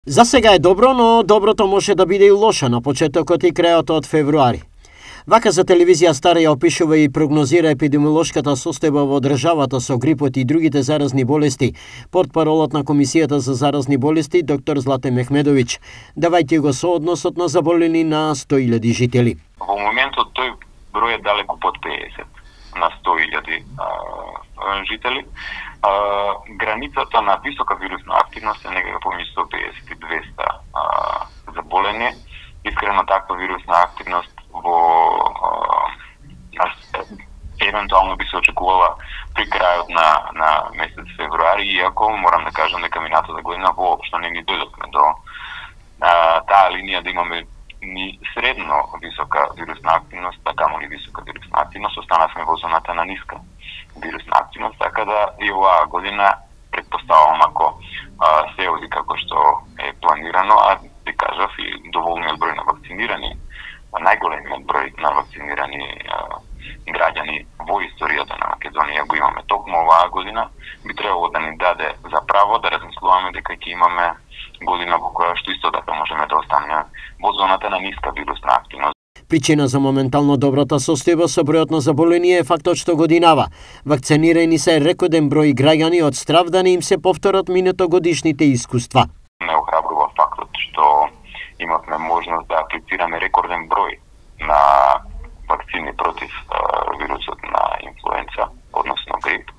За сега е добро, но доброто може да биде и лошо на почетокот и крајот од февруари. Вака за телевизија Стара ја опишува и прогнозира епидемиолошката состојба во државата со грипот и другите заразни болести, портпаролот на Комисијата за заразни болести доктор Злате Мехмедовиќ, давајќи го соодносот на заболени на 100.000 жители. Во моментот тој број е далеку под 50 на 100.000 жители. Границата на висока вирусна активност е некако помеѓу 150 и 200 заболени. Искрено таква вирусна активност евентуално би се очекувала при крајот на месец февруари, иако морам да кажам дека минатата година воопшто не ни дојдовме до таа линија да имаме ни средно висока вирусна активност, така камо ли висока вирусна активност, останавме во зоната на ниска вирусна активност, така да и оваа година предпоставувам ако се оди како што е планирано, а ти кажав и доволниот број на вакцинирани, најголемиот број на вакцинирани граѓани во историјата на Македонија го имаме токму оваа година, би требало да ни даде за право да размислуваме дека ќе имаме година во која што исто така можеме да останеме во зоната на ниска вирусна активност. Причина за моментално добрата состојба со бројот на заболени е фактот што годинава. Вакцинирани се рекорден број граѓани од страв да не им се повторат минатогодишните искуства. Не охрабрува фактот што имавме можност да аплицираме рекорден број на вакцини против вирусот на инфлуенца, односно грип.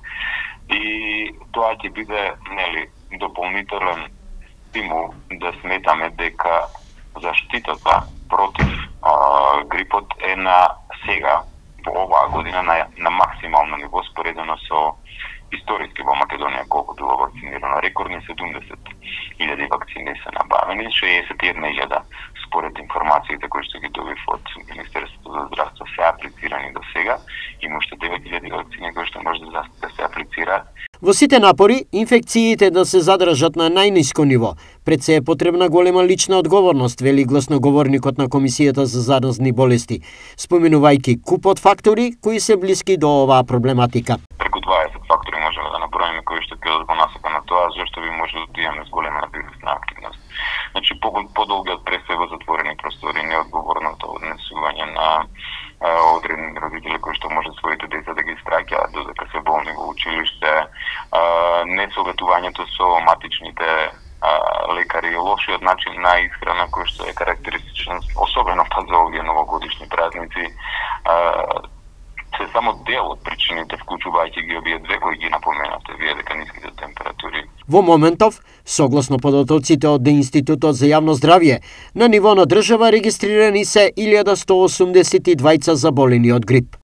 И тоа ќе биде дополнителен стимул да сметаме дека заштитата против грипот е на сега, во оваа година, на максимално ниво споредено со историски во Македонија колку било вакцинирано. Рекордни 70.000 вакцини се набавени, 61.000 според информациите кои што ги добив од Министерството за здравство се аплицирани до сега. Има уште 9.000 вакцини кои што може да се аплицираат. Во сите напори, инфекциите да се задржат на најниско ниво. Пред се е потребна голема лична одговорност, вели гласноговорникот на Комисијата за заразни болести, споменувајќи купот фактори кои се блиски до оваа проблематика. Преку 20 фактори можеме да наброиме кои што ќе во насока на тоа зашто би можело да имаме зголемена вирусна активност. Значи подолгиот престој во затворени простори, неодговорното однесување на одредени родители кои што може своите деца да ги страќаат додека се болни во училиште, несоветувањето со матичните лекари, лошиот начин на исхрана кој што е карактеристичен, особено па за овие новогодишни празници, се само дел од причините, вклучувајќи ги овие две кои ги напоменавте вие, дека ниските температури. Во моментов, согласно податоците од Институтот за јавно здравје, на ниво на држава регистрирани се 1182 заболени од грип.